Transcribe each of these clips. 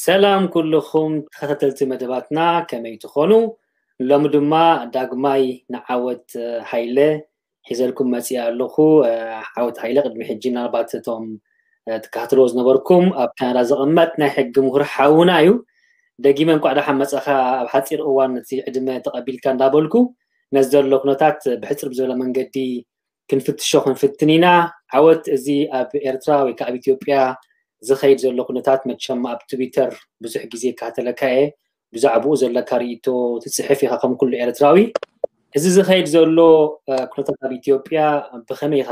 ሰላም ኩልኹም ተኸታተልቲ መደባትና፣ ከመይ ትኾኑ? ሎሚ ድማ ዳግማይ ንዓወት ሃይለ ሒዘልኩም መፂኣ ኣለኹ። ዓወት ሃይለ ቅድሚ ሕጂ ናልባት እቶም ትከታተልዎ ዝነበርኩም ኣብ ካናዳ ዝቕመጥ ናይ ሕጊ ምሁር ሓውና እዩ። ደጊመ እንኳዕ ደሓን መፀኻ። ኣብ ሓፂር እዋን ነቲ ዕድመ ተቐቢልካ እንዳበልኩ ነዚ ዘሎ ኩነታት ብሕፅር ብዝበለ መንገዲ ክንፍትሾ ክንፍትን ኢና። ዓወት፣ እዚ ኣብ ኤርትራ ወይ ከዓ ኣብ ኢትዮጵያ ዝኸይድ ዘሎ ኩነታት መቸም ኣብ ትዊተር ብዙሕ ግዜ ይከታተለካ እየ። ብዛዕባኡ ዘለካ ርእይቶ ትፅሕፍ ኢኻ ከም ኩሉ ኤርትራዊ። እዚ ዝኸይድ ዘሎ ኩነታት ኣብ ኢትዮጵያ ብኸመይ ኢኻ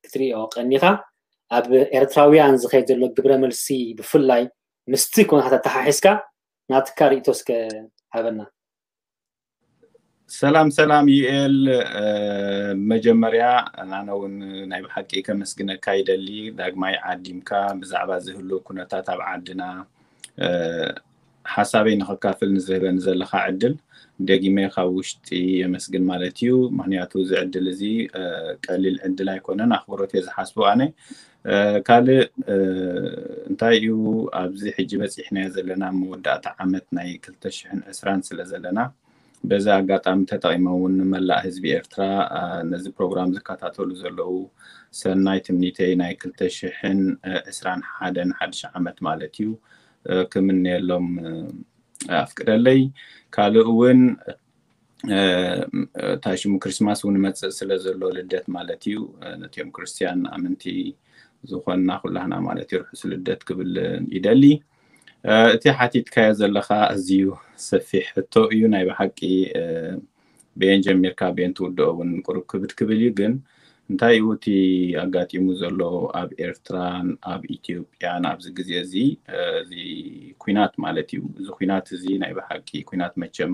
ክትሪኦ ቀኒኻ? ኣብ ኤርትራውያን ዝኸይድ ዘሎ ግብረ መልሲ ብፍላይ ምስቲ ኩነታት ኣተሓሒዝካ ናትካ ርእይቶ እስከ ሃበና። ሰላም ሰላም ዩኤል፣ መጀመርያ ኣነ እውን ናይ ብሓቂ ከመስግነካ ይደሊ። ዳግማይ ዓዲምካ ብዛዕባ ዝህሉ ኩነታት ኣብ ዓድና ሓሳበይ ንኸካፍል ንዝህበኒ ዘለካ ዕድል ደጊመ ካብ ውሽጢ የመስግን ማለት እዩ። ምክንያቱ እዚ ዕድል እዚ ቀሊል ዕድል ኣይኮነን፣ ኣኽብሮት እየ ዝሓስቦ ኣነ። ካልእ እንታይ እዩ፣ ኣብዚ ሕጂ በፂሕናዮ ዘለና መወዳእታ ዓመት ናይ ክልተ ሽሕን ዕስራን ስለ ዘለና፣ በዚ ኣጋጣሚ ተጠቒመ እውን ንመላእ ህዝቢ ኤርትራ፣ ነዚ ፕሮግራም ዝከታተሉ ዘለዉ ሰናይ ትምኒተይ ናይ ክልተ ሽሕን ዕስራን ሓደን ሓድሽ ዓመት ማለት እዩ ክምነየሎም ኣፍቅደለይ። ካልእ እውን እንታይ ሽሙ፣ ክሪስማስ እውን መፅእ ስለ ዘሎ፣ ልደት ማለት እዩ፣ ነቲኦም ክርስትያን ኣመንቲ ዝኾንና ኩላህና ማለት እዩ ርሑስ ልደት ክብል ይደሊ። እቲ ሓቲትካዮ ዘለኻ ኣዝዩ ሰፊሕ ሕቶ እዩ። ናይ ብሓቂ በየን ጀሚርካ በየን ትውድኦ እውን ቁሩብ ክብድ ክብል እዩ። ግን እንታይ እዩ እቲ ኣጋጢሙ ዘሎ ኣብ ኤርትራን ኣብ ኢትዮጵያን ኣብዚ ግዜ እዚ? እዚ ኩናት ማለት እዩ። እዚ ኩናት እዚ ናይ ብሓቂ ኩናት፣ መቸም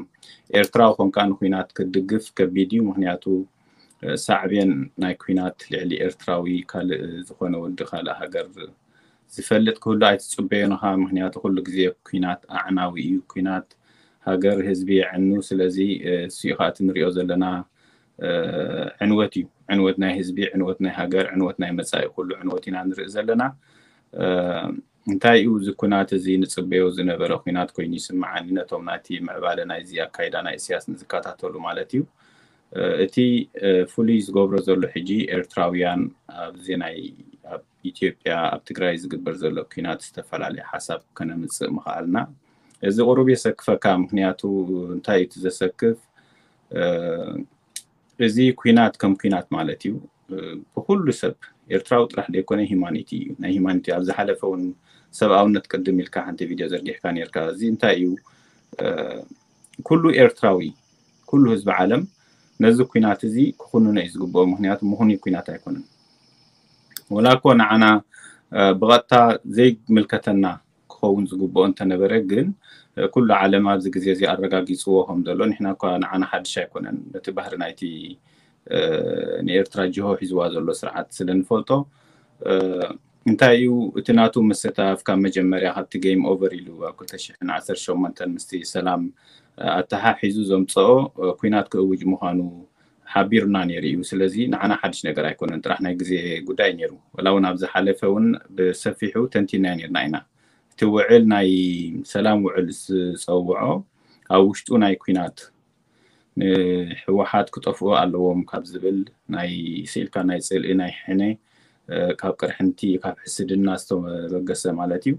ኤርትራዊ ኮንካ ንኩናት ክትድግፍ ከቢድ እዩ። ምክንያቱ ሳዕቤን ናይ ኩናት ልዕሊ ኤርትራዊ ካልእ ዝኾነ ወዲ ካልእ ሃገር ዝፈልጥ ክህሉ ኣይትፅበዮን ኢኻ። ምክንያቱ ኩሉ ግዜ ኩናት ኣዕናዊ እዩ። ኩናት ሃገር ህዝቢ የዕኑ። ስለዚ እሱ እዩ ከዓ እቲ ንሪኦ ዘለና ዕንወት እዩ። ዕንወት ናይ ህዝቢ፣ ዕንወት ናይ ሃገር፣ ዕንወት ናይ መፃኢ ኩሉ ዕንወት ኢና ንርኢ ዘለና። እንታይ እዩ እዚ ኩናት እዚ ንፅበዮ ዝነበረ ኩናት ኮይኑ ይስምዓኒ፣ ነቶም ናይቲ ምዕባለ ናይዚ ኣካይዳ ናይ ኢሳያስ ንዝከታተሉ ማለት እዩ። እቲ ፍሉይ ዝገብሮ ዘሎ ሕጂ ኤርትራውያን ኣብዚ ናይ ኣብ ኢትዮጵያ ኣብ ትግራይ ዝግበር ዘሎ ኩናት ዝተፈላለየ ሓሳብ ከነምፅእ ምኽኣልና እዚ ቁሩብ የሰክፈካ። ምክንያቱ እንታይ እዩ እቲ ዘሰክፍ? እዚ ኩናት ከም ኩናት ማለት እዩ። ብኩሉ ሰብ ኤርትራዊ ጥራሕ ዘይኮነ ሂማኒቲ እዩ። ናይ ሂማኒቲ ኣብ ዝሓለፈ እውን ሰብኣውነት ቅድም ኢልካ ሓንቲ ቪድዮ ዘርጊሕካ ነርካ። እዚ እንታይ እዩ? ኩሉ ኤርትራዊ፣ ኩሉ ህዝቢ ዓለም ነዚ ኩናት እዚ ክኹንኖ እዩ ዝግብኦ። ምክንያቱ ምኹኑይ ኩናት ኣይኮነን። ወላ እኮ ንዓና ብቐጥታ ዘይምልከተና ክኸውን ዝግብኦ እንተነበረ፣ ግን ኩሉ ዓለም ኣብዚ ግዜ እዚ ኣረጋጊፅዎ ከም ዘሎ፣ ንሕና እኳ ንዓና ሓድሽ ኣይኮነን። ነቲ ባህሪ ናይቲ ንኤርትራ ጅሆ ሒዝዋ ዘሎ ስርዓት ስለ ንፈልጦ፣ እንታይ እዩ እቲ ናቱ ምስታፍ? ካብ መጀመርያ ካብቲ ጌም ኦቨር ኢሉ ኣብ ክልተ ሽሕን ዓሰርተ ሸሞንተን ምስቲ ሰላም ኣተሓሒዙ ዘምፀኦ ኩናት ክእውጅ ምዃኑ ሓቢሩና ነይሩ እዩ። ስለዚ ንዓና ሓድሽ ነገር ኣይኮነን፣ ጥራሕ ናይ ግዜ ጉዳይ ነይሩ። ወላ እውን ኣብ ዝሓለፈ እውን ብሰፊሑ ተንቲናዮ ነይርና ኢና። እቲ ውዕል ናይ ሰላም ውዕል ዝፀውዖ ኣብ ውሽጡ ናይ ኩናት ንህወሓት ክጠፍኡ ኣለዎም ካብ ዝብል ናይ ስኢልካ ናይ ፅልኢ ናይ ሕነ ካብ ቅርሕንቲ ካብ ሕስድና ዝተበገሰ ማለት እዩ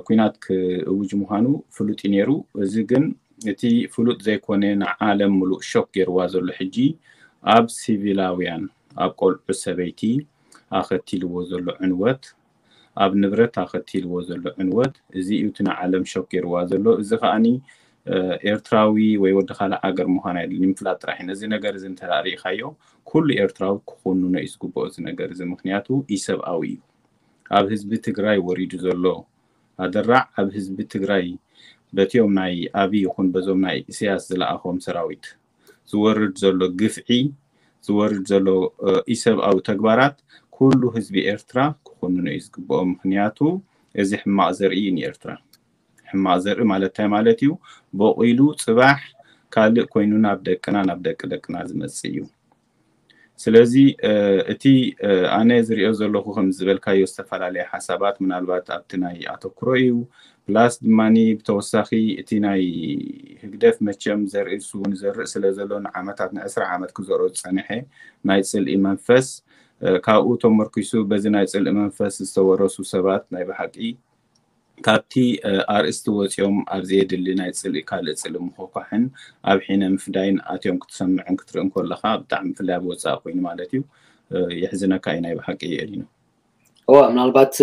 ኩናት ክእውጅ ምዃኑ ፍሉጥ እዩ ነይሩ። እዚ ግን እቲ ፍሉጥ ዘይኮነ ንዓለም ምሉእ ሾክ ገይርዋ ዘሎ ሕጂ ኣብ ሲቪላውያን ኣብ ቆልዑ ሰበይቲ ኣኸቲልዎ ዘሎ ዕንወት ኣብ ንብረት ኣኸቲልዎ ዘሎ ዕንወት እዚ እዩ እቲ ንዓለም ሾክ ገይርዋ ዘሎ። እዚ ከዓኒ ኤርትራዊ ወይ ወዲ ካልእ ዓገር ምዃን ኣይደልን፣ ንምፍላጥ ጥራሕ እዩ። ነዚ ነገር እዚ እንተ ርኢኻዮ ኩሉ ኤርትራዊ ክኹንኖ እዩ ዝግብኦ እዚ ነገር እዚ፣ ምክንያቱ ኢሰብኣዊ እዩ። ኣብ ህዝቢ ትግራይ ወሪዱ ዘሎ ኣደራዕ ኣብ ህዝቢ ትግራይ በቲኦም ናይ ኣብይ ይኹን በዞም ናይ ኢሳያስ ዝለኣኾም ሰራዊት ዝወርድ ዘሎ ግፍዒ ዝወርድ ዘሎ ኢሰብኣዊ ተግባራት ኩሉ ህዝቢ ኤርትራ ክኹንኖ እዩ ዝግብኦ። ምክንያቱ እዚ ሕማቕ ዘርኢ እዩ ንኤርትራ። ሕማቕ ዘርኢ ማለት እንታይ ማለት እዩ? በቂሉ ፅባሕ ካልእ ኮይኑ ናብ ደቅና ናብ ደቂ ደቅና ዝመፅእ እዩ። ስለዚ እቲ ኣነ ዝሪኦ ዘለኹ ከም ዝበልካዮ ዝተፈላለየ ሓሳባት ምናልባት ኣብቲ ናይ ኣተኩሮ እዩ። ፕላስ ድማ ብተወሳኺ እቲ ናይ ህግደፍ መቸም ዘርኢ ንሱ ንዘርእ ስለ ዘሎ ንዓመታት ንዕስራ ዓመት ክዘርኦ ዝፀንሐ ናይ ፅልኢ መንፈስ ካብኡ ተመርኪሱ በዚ ናይ ፅልኢ መንፈስ ዝተወረሱ ሰባት ናይ ብሓቂ ካብቲ ኣርእስቲ ወፂኦም ኣብ ዘየድሊ ናይ ፅልኢ ካልእ ፅልኢ ምኾኳሕን ኣብ ሒነ ምፍዳይን ኣትዮም ክትሰምዕን ክትርእን ከለኻ ብጣዕሚ ብፍላይ ኣብ ወፃኢ ኮይኑ ማለት እዩ። የሕዝነካ እዩ ናይ ብሓቂ። የሊኖ እዋ ምናልባት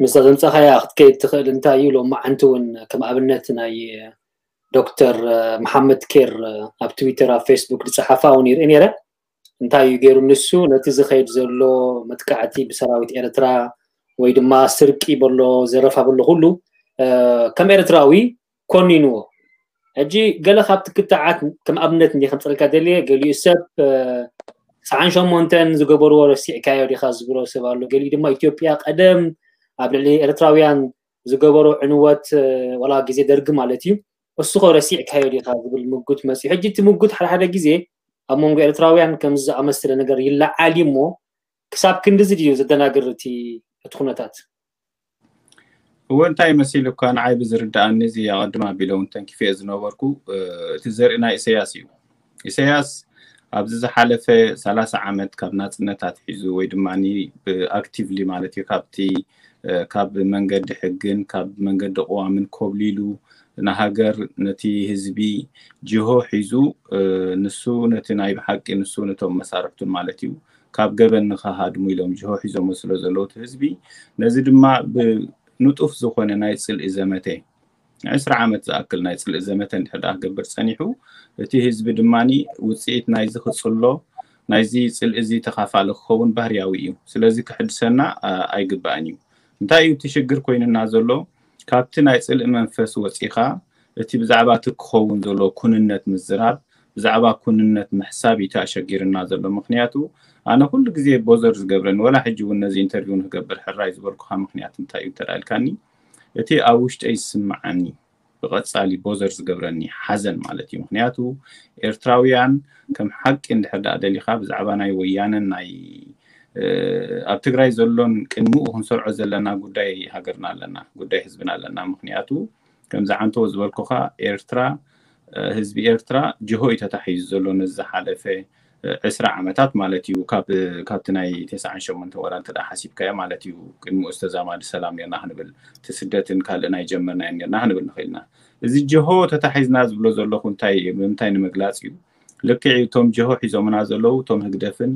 ምስዛ ዘምፃኻያ ክትከይድ ትኽእል እንታይ እዩ ሎማዓንቲ እውን ከም ኣብነት ናይ ዶክተር መሓመድ ኬር ኣብ ትዊተር ኣብ ፌስቡክ ዝፀሓፋ እውን ይርኢ ነይረ። እንታይ እዩ ገይሩ ንሱ ነቲ ዝኸይድ ዘሎ መጥቃዕቲ ብሰራዊት ኤርትራ ወይ ድማ ስርቂ በሎ ዘረፋ በሎ ኩሉ ከም ኤርትራዊ ኮኒንዎ። ሕጂ ገለ ካብቲ ክትዓት ከም ኣብነት እንዲ ከምፀልካ ደልየ ገሊኡ ሰብ ሰዓን ሸሞንተን ዝገበርዎ ረሲዕካዮ ዲኻ ዝብሎ ሰብ ኣሎ። ገሊኡ ድማ ኢትዮጵያ ቀደም ኣብ ልዕሊ ኤርትራውያን ዝገበሮ ዕንወት ዋላ ግዜ ደርጊ ማለት እዩ እሱኸ ረሲዕካዮ ዲኻ ዝብል ምጉት መፅዩ። ሕጂ እቲ ምጉት ሓደ ሓደ ግዜ ኣብ መንጎ ኤርትራውያን ከምዚ ዝኣመሰለ ነገር ይለዓል እዩ እሞ ክሳብ ክንድዚ ድዩ ዘደናግር እቲ እቲ ኩነታት? እወ እንታይ መሲሉካ ንዓይ ብዝርድኣኒ እዚ ኣቐድም ኣቢለ እውን ተንኪፈ ዝነበርኩ እቲ ዘርኢ ናይ ኢሳያስ እዩ። ኢሳያስ ኣብዚ ዝሓለፈ ሰላሳ ዓመት ካብ ናፅነት ኣትሒዙ ወይ ድማ ብኣክቲቭሊ ማለት እዩ ካብቲ ካብ መንገዲ ሕግን ካብ መንገዲ ቅዋምን ኮብሊሉ ንሃገር ነቲ ህዝቢ ጅሆ ሒዙ ንሱ ነቲ ናይ ብሓቂ ንሱ ነቶም መሳርሕቱን ማለት እዩ ካብ ገበን ንኸሃድሙ ኢሎም ጅሆ ሒዞሞ ስለ ዘለዉ እቲ ህዝቢ ነዚ ድማ ብንጡፍ ዝኾነ ናይ ፅልኢ ዘመተ ዕስራ ዓመት ዝኣክል ናይ ፅልኢ ዘመተ እንድሕር ደኣ ክገብር ፀኒሑ እቲ ህዝቢ ድማ ውፅኢት ናይዚ ክፅሎ ናይዚ ፅልኢ እዚ ተኻፋሊ ክኸውን ባህርያዊ እዩ። ስለዚ ክሕድሰና ኣይግባእን እዩ። እንታይ እዩ እቲ ሽግር ኮይኑና ዘሎ? ካብቲ ናይ ፅልኢ መንፈስ ወፂኻ እቲ ብዛዕባ እቲ ክኸውን ዘሎ ኩንነት ምዝራብ ብዛዕባ ኩንነት ምሕሳብ እዩ ኣሸጊርና ዘሎ። ምክንያቱ ኣነ ኩሉ ግዜ ቦዘር ዝገብረኒ ወላ ሕጂ እውን ነዚ ኢንተርቪው ንክገብር ሕራይ ዝበልኩካ ምክንያት እንታይ እዩ እንተዳልካኒ እቲ ኣብ ውሽጠይ ዝስምዓኒ ብቐፃሊ ቦዘር ዝገብረኒ ሓዘን ማለት እዩ። ምክንያቱ ኤርትራውያን ከም ሓቂ እንድሕር ደኣ ደሊኻ ብዛዕባ ናይ ወያነን ናይ ኣብ ትግራይ ዘሎን ቅድሚኡ ክንሰርዖ ዘለና ጉዳይ ሃገርና ኣለና፣ ጉዳይ ህዝብና ኣለና። ምክንያቱ ከምዚ ዓንተዎ ዝበልኩኻ ኤርትራ ህዝቢ ኤርትራ ጅሆ እዩ ተታሒዙ ዘሎ ነዚ ዝሓለፈ ዕስራ ዓመታት ማለት እዩ። ካብቲ ናይ ተስዓን ሸሞንተን ወላ እንተ ሓሲብካዮ ማለት እዩ ቅድሚኡ ዝተዛማዲ ሰላም ኔርና ክንብል እቲ ስደትን ካልእ ናይ ጀመርናዮ ኔርና ክንብል ንኽእል ኢና። እዚ ጅሆ ተታሒዝና ዝብሎ ዘለኹ እንታይ ብምንታይ ንምግላፅ እዩ? ልክዕ እዩ እቶም ጅሆ ሒዞምና ዘለዉ እቶም ህግደፍን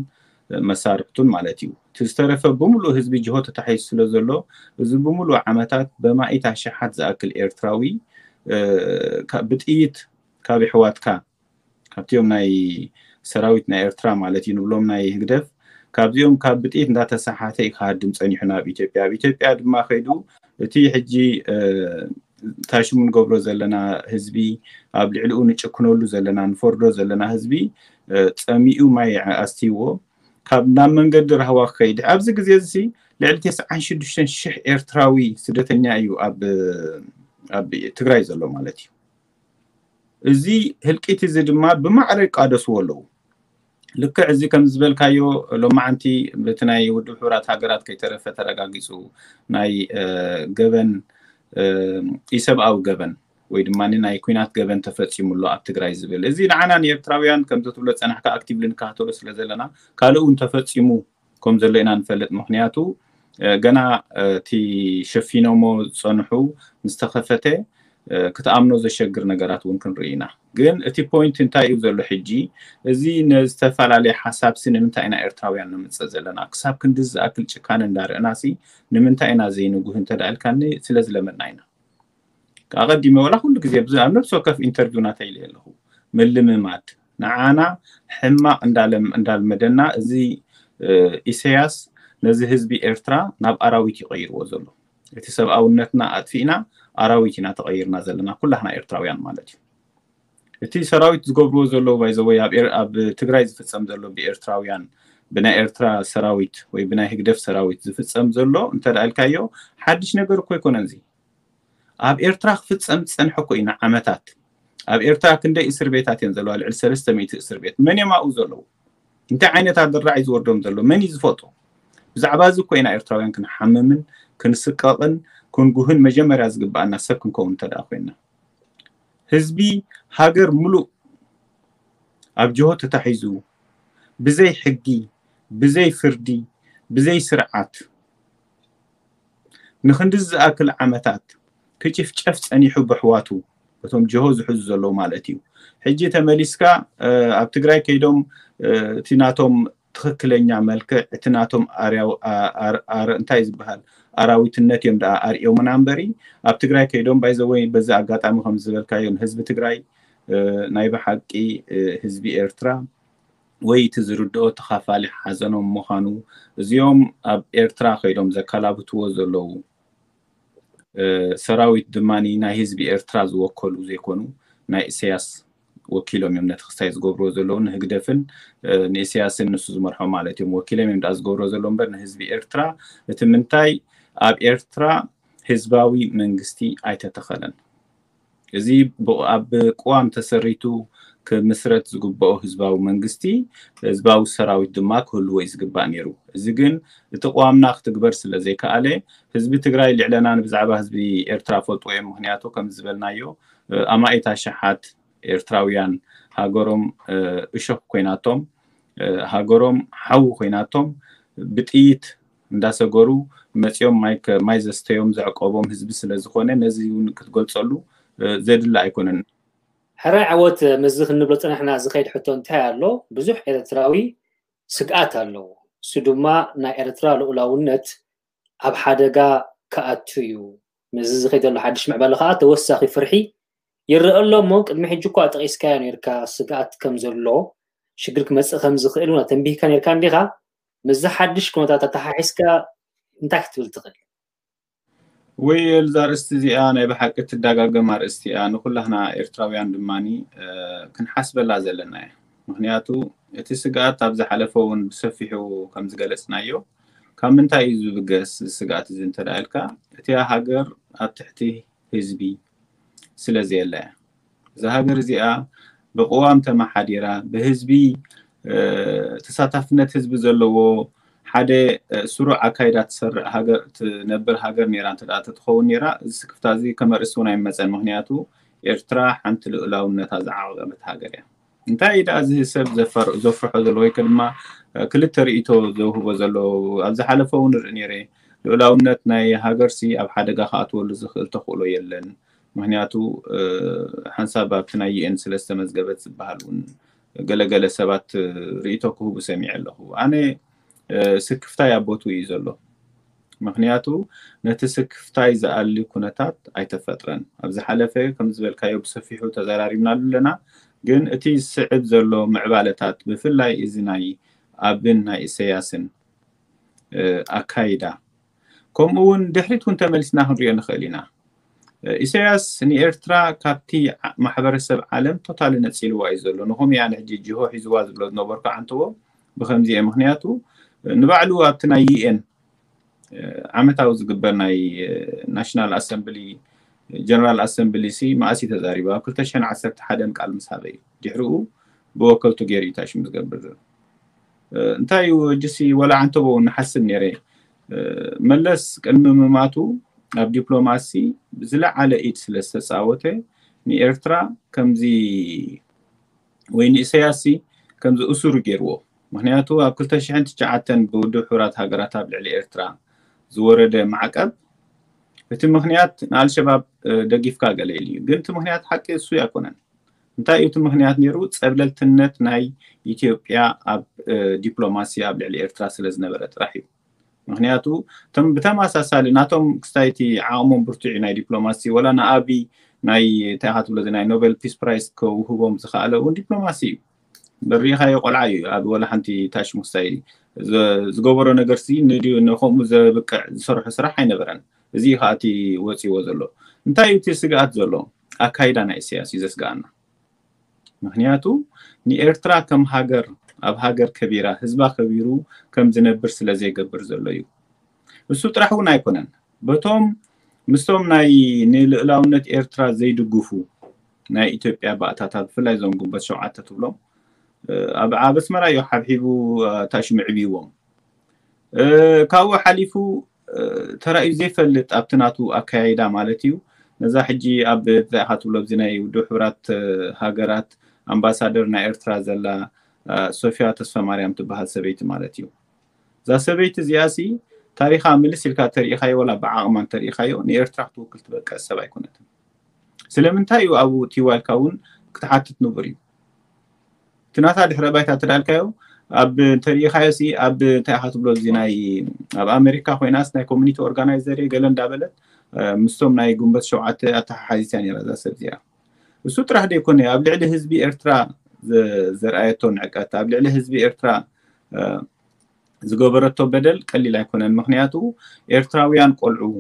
መሳርሕቱን ማለት እዩ። እቲ ዝተረፈ ብምሉእ ህዝቢ ጅሆ ተታሒዙ ስለ ዘሎ እዚ ብምሉእ ዓመታት በማኢት ኣሽሓት ዝኣክል ኤርትራዊ ብጥይት ካብ ኣሕዋትካ ካብቲኦም ናይ ሰራዊት ናይ ኤርትራ ማለት እዩ ንብሎም ናይ ህግደፍ ካብዚኦም ካብ ብጥይት እንዳተሰሓተ እዩ ክሃድም ፀኒሑ ናብ ኢትዮጵያ። ኣብ ኢትዮጵያ ድማ ከይዱ እቲ ሕጂ ታሽሙ ንገብሮ ዘለና ህዝቢ ኣብ ልዕሊኡ ንጭክነሉ ዘለና ንፈርዶ ዘለና ህዝቢ ፀሚኡ ማይ ኣስትይዎ ካብ ናብ መንገዲ ራህዋ ክኸይድ ኣብዚ ግዜ እዚ ልዕሊ ተስዓን ሽዱሽተን ሽሕ ኤርትራዊ ስደተኛ እዩ ኣብ ኣብ ትግራይ ዘሎ ማለት እዩ። እዚ ህልቂት እዚ ድማ ብማዕረ ይቃደስዎ ኣለዉ። ልክዕ እዚ ከም ዝበልካዮ ሎማዓንቲ በቲ ናይ ውድብ ሕቡራት ሃገራት ከይተረፈ ተረጋጊፁ ናይ ገበን ኢሰብኣዊ ገበን ወይ ድማ ናይ ኩናት ገበን ተፈፂሙ ኣሎ ኣብ ትግራይ ዝብል እዚ ንዓና ንኤርትራውያን ከምዚ ትብሎ ፀናሕካ ኣክቲቭሊ ንከታተሎ ስለ ዘለና ካልእ እውን ተፈፂሙ ከም ዘሎ ኢና ንፈልጥ። ምክንያቱ ገና እቲ ሸፊኖሞ ዝፀንሑ ምስ ተኸፈተ ክትኣምኖ ዘሸግር ነገራት እውን ክንርኢ ኢና። ግን እቲ ፖይንት እንታይ እዩ ዘሎ ሕጂ እዚ ንዝተፈላለየ ሓሳብሲ ንምንታይ ኢና ኤርትራውያን ንምፅእ ዘለና ክሳብ ክንዲ ዝኣክል ጭካነ እንዳርአናሲ ንምንታይ ኢና ዘይንጉህ እንተዳልካኒ ስለ ዝለመድና ኢና። ኣቐዲመ ወላ ኩሉ ግዜ ኣብ ነብሲ ወከፍ ኢንተርቪው ናተይ ኢለ ኣለኹ ምልምማድ ንዓና ሕማቕ እንዳልመደና እዚ ኢሰያስ ነዚ ህዝቢ ኤርትራ ናብ ኣራዊት ይቐይርዎ ዘሎ እቲ ሰብኣውነትና ኣጥፊእና ኣራዊት ኢና ተቐይርና ዘለና ኩላህና ኤርትራውያን ማለት እዩ። እቲ ሰራዊት ዝገብርዎ ዘለዉ ባይዘወይ ኣብ ትግራይ ዝፍፀም ዘሎ ብኤርትራውያን ብናይ ኤርትራ ሰራዊት ወይ ብናይ ህግደፍ ሰራዊት ዝፍፀም ዘሎ እንተደኣልካዮ ሓድሽ ነገር እኮ ኣይኮነን እዚ ኣብ ኤርትራ ክፍፀም ዝፀንሐ እኮ እዩ ንዓመታት ኣብ ኤርትራ ክንደይ እስር ቤታት እየን ዘለዋ ልዕሊ ሰለስተ ሚእቲ እስር ቤት መን እዮም ኣብኡ ዘለዉ እንታይ ዓይነት ኣደራዕ እዩ ዝወርዶም ዘሎ? መን እዩ ዝፈልጦ? ብዛዕባ እዚ እኮ ኢና ኤርትራውያን ክንሓምምን ክንስቀቕን ክንጉህን መጀመርያ ዝግብኣና ሰብ ክንከውን እንተ ደኣ ኮይና። ህዝቢ ሃገር ሙሉእ ኣብ ጅሆ ተታሒዙ፣ ብዘይ ሕጊ፣ ብዘይ ፍርዲ፣ ብዘይ ስርዓት፣ ንክንድዚ ዝኣክል ዓመታት ክጭፍጨፍ ጸኒሑ ብሕዋቱ፣ እቶም ጅሆ ዝሕዙ ዘለዉ ማለት እዩ። ሕጂ ተመሊስካ ኣብ ትግራይ ከይዶም እቲ ናቶም ትኽክለኛ መልክዕ፣ እቲ ናቶም እንታይ ዝበሃል ኣራዊትነት እዮም ደኣ ኣርእዮምና እምበሪ፣ ኣብ ትግራይ ከይዶም ባይዘወይ በዚ ኣጋጣሚ ከም ዝበልካዮ ንህዝቢ ትግራይ ናይ ብሓቂ ህዝቢ ኤርትራ ወይ እቲ ዝርድኦ ተኻፋሊ ሓዘኖም ምዃኑ፣ እዚኦም ኣብ ኤርትራ ከይዶም ዘከላብትዎ ዘለዉ ሰራዊት ድማ ናይ ህዝቢ ኤርትራ ዝወከሉ ዘይኮኑ ናይ ኢሳያስ ወኪሎም እዮም ነቲ ክስታይ ዝገብርዎ ዘለዉ። ንህግደፍን ንኢሳያስን ንሱ ዝመርሖ ማለት እዮም ወኪሎም እዮም ደኣ ዝገብርዎ ዘለዉ እምበር ንህዝቢ ኤርትራ እቲ ምንታይ ኣብ ኤርትራ ህዝባዊ መንግስቲ ኣይተተኸለን። እዚ ኣብ ቅዋም ተሰሪቱ ክምስረት ዝግብኦ ህዝባዊ መንግስቲ ህዝባዊ ሰራዊት ድማ ክህልዎ እዩ ዝግባእ ነይሩ። እዚ ግን እቲ ቅዋምና ክትግበር ስለ ዘይከኣለ ህዝቢ ትግራይ ልዕለና ንብዛዕባ ህዝቢ ኤርትራ ፈልጥዎ እዮም። ምክንያቱ ከም ዝበልናዮ ኣማኢት ኣሽሓት ኤርትራውያን ሃገሮም እሾኽ ኮይናቶም ሃገሮም ሓዊ ኮይናቶም ብጥይት እንዳሰገሩ መፂኦም ማይ ዘስተዮም ዘዕቆቦም ህዝቢ ስለ ዝኾነ ነዚ እውን ክትገልፀሉ ዘድሊ ኣይኮነን። ሕራይ ዓወት ምስዚ ክንብሎ ፀናሕና ዝኸይድ ሕቶ እንታይ ኣሎ? ብዙሕ ኤርትራዊ ስግኣት ኣለዎ። እሱ ድማ ናይ ኤርትራ ልኡላውነት ኣብ ሓደጋ ክኣቱ እዩ። ምስዚ ዝኸይድ ዘሎ ሓድሽ ምዕባለ ከዓ ተወሳኺ ፍርሒ ይረአ ኣሎ እሞ ቅድሚ ሕጂ እኳ ጠቒስካዮ ነርካ ስግኣት ከም ዘሎ ሽግር ክመፅእ ከም ዝኽእል እውን ተንቢህካ ነርካ እንዲኻ። ምስዚ ሓድሽ ኩነታት ኣተሓሒዝካ እንታይ ክትብል ትኽእል? ወይ እዛ ኣርእስቲ እዚኣ ናይ ብሓቂ ትደጋገም ኣርእስቲ እያ። ንኩላህና ኤርትራውያን ድማ ክንሓስበላ ዘለና እያ። ምክንያቱ እቲ ስግኣት ኣብ ዝሓለፈ እውን ብሰፊሑ ከም ዝገለፅናዮ ካብ ምንታይ እዩ ዝብገስ ስግኣት እዚ እንተ ኢልካ እቲያ ሃገር ኣብ ትሕቲ ህዝቢ ስለ ዘየለ እያ። እዛ ሃገር እዚኣ ብቅዋም ተመሓዲራ ብህዝቢ ተሳታፍነት ህዝቢ ዘለዎ ሓደ ስሩዕ ኣካይዳ ትሰርዕ ሃገር ትነብር ሃገር ነይራ እንተ ተትኸውን ነይራ እዚ ስክፍታ እዚ ከመርእስ እውን ኣይመፀን። ምክንያቱ ኤርትራ ሓንቲ ልኡላውነታ ዝዓቐበት ሃገር እያ። እንታይ እዩ ደኣ እዚ ሰብ ዘፍርሖ ዘሎ ወይ ድማ ክልተ ርእይቶ ዘውህቦ ዘሎ? ኣብ ዝሓለፈ እውን ንርኢ ነይረ ልኡላውነት ናይ ሃገርሲ ኣብ ሓደጋ ክኣትወሉ ዝኽእል ተኽእሎ የለን። ምክንያቱ ሓንሳብ ኣብቲ ናይ ዩኤን ስለ ዝተመዝገበት ዝበሃል እውን ገለገለ ሰባት ርእይቶ ክህቡ ሰሚዐ ኣለኹ። ኣነ ስክፍታይ ኣብ ቦትኡ እዩ ዘሎ። ምክንያቱ ነቲ ስክፍታይ ዝኣሊ ኩነታት ኣይተፈጥረን። ኣብ ዝሓለፈ ከም ዝበልካዮ ብሰፊሑ ተዘራሪብናሉ ኣለና። ግን እቲ ዝስዕብ ዘሎ ምዕባለታት ብፍላይ እዚ ናይ ኣብን ናይ ኢሰያስን ኣካይዳ ከምኡ እውን ድሕሪት እውን ተመሊስና ክንሪኦ ንኽእል ኢና። ኢሳያስ ንኤርትራ ካብቲ ማሕበረሰብ ዓለም ቶታሊ ነፂልዋ እዩ ዘሎ። ንኹም እያ ንሕጂ ጅሆ ሒዝዋ ዝብሎ ዝነበርኩ ዓንተዎ ብከምዚ እየ። ምክንያቱ ንባዕሉ ኣብቲ ናይ ዩኤን ዓመታዊ ዝግበር ናይ ናሽናል ኣሰምብሊ ጀነራል ኣሰምብሊ ሲ መኣስ እዩ ተዛሪቡ? ኣብ ክልተ ሽሕን ዓሰርተ ሓደን ቃል ምስ ሃበ እዩ። ድሕሪኡ ብወከልቱ ገይሩ እዩ ታሽሙ ዝገብር ዘሎ። እንታይ እዩ እጅሲ ወላ ዓንተቦ ንሓስብ ነይረ። መለስ ቅድሚ ምማቱ ኣብ ዲፕሎማሲ ዝለዓለ ኢድ ስለ ዝተፃወተ ንኤርትራ ከምዚ ወይ ንኢሰያሲ ከምዚ እሱሩ ገይርዎ። ምክንያቱ ኣብ ክልተ ሽሕን ትሽዓተን ብውድብ ሕቡራት ሃገራት ኣብ ልዕሊ ኤርትራ ዝወረደ ማዕቀብ እቲ ምክንያት ንኣልሸባብ ደጊፍካ ገለ ኢሉ እዩ። ግን እቲ ምክንያት ሓቂ እሱ ኣይኮነን። እንታይ እዩ እቲ ምክንያት ነይሩ? ፀብለልትነት ናይ ኢትዮጵያ ኣብ ዲፕሎማሲ ኣብ ልዕሊ ኤርትራ ስለ ዝነበረ ጥራሕ እዩ። ምክንያቱ ብተመሳሳሊ ናቶም ክስታይቲ ዓቕሞም ብርቱዕ እዩ ናይ ዲፕሎማሲ ወላ ንኣቢ ናይ እንታይ ኢኻ ትብሎ ናይ ኖቤል ፒስ ፕራይስ ከውህቦም ዝኸኣለ እውን ዲፕሎማሲ እዩ። በሪኻዮ ቆልዓ እዩ ኣብ ወላ ሓንቲ ታሽሙ ክስታይ ዝገበሮ ነገር ሲ ንድዩ ንከምኡ ዘብቅዕ ዝሰርሖ ስራሕ ኣይነበረን። እዚ እዩ ከዓ እቲ ወፂዎ ዘሎ። እንታይ እዩ እቲ ስግኣት ዘሎ? ኣካይዳ ናይ ኢሳያስ እዩ ዘስግኣና። ምክንያቱ ንኤርትራ ከም ሃገር ኣብ ሃገር ከቢራ ህዝባ ከቢሩ ከም ዝነብር ስለ ዘይገብር ዘሎ እዩ። እሱ ጥራሕ እውን ኣይኮነን። በቶም ምስቶም ናይ ንልእላውነት ኤርትራ ዘይድግፉ ናይ ኢትዮጵያ ባእታታት ብፍላይ እዞም ግንቦት ሸውዓተ ትብሎም ኣብ ኣብ ኣስመራ እዩ ሓብሒቡ ታሽሙ ዕብይዎም። ካብኡ ሓሊፉ ተራእዩ ዘይፈልጥ ኣብቲ ናቱ ኣካያይዳ ማለት እዩ። ነዛ ሕጂ ኣብ እንታይ ኢኻ ትብሎ ኣብዚ ናይ ውድብ ሕቡራት ሃገራት ኣምባሳደር ናይ ኤርትራ ዘላ ሶፊያ ተስፋ ማርያም ትበሃል ሰበይቲ ማለት እዩ። እዛ ሰበይቲ እዚኣ ሲ ታሪኻ ምልስ ኢልካ ተሪኢኻዮ ወላ ብዓቕማ እንተሪኢኻዮ ንኤርትራ ክትውክል ትበቅዕ ሰብ ኣይኮነትን። ስለምንታይ እዩ ኣብኡ ትይዋልካ እውን ክትሓትት ንቡር እዩ። እቲ ናታ ድሕረ ባይታ ተዳልካዮ ኣብ እንተሪኢኻዮ ሲ ኣብ እንታይ ኢኻ ትብሎ እዚ ናይ ኣብ ኣሜሪካ ኮይናስ ናይ ኮሚኒቲ ኦርጋናይዘር እየ ገለ እንዳበለት ምስቶም ናይ ጉንበት ሸውዓተ ኣተሓሓዚት እያ ነይራ እዛ ሰብ እዚኣ። እሱ ጥራሕ ዘይኮነ ኣብ ልዕሊ ህዝቢ ኤርትራ ዘርኣየቶ ንዕቀት ኣብ ልዕሊ ህዝቢ ኤርትራ ዝገበረቶ በደል ቀሊል ኣይኮነን። ምክንያቱ ኤርትራውያን ቆልዑ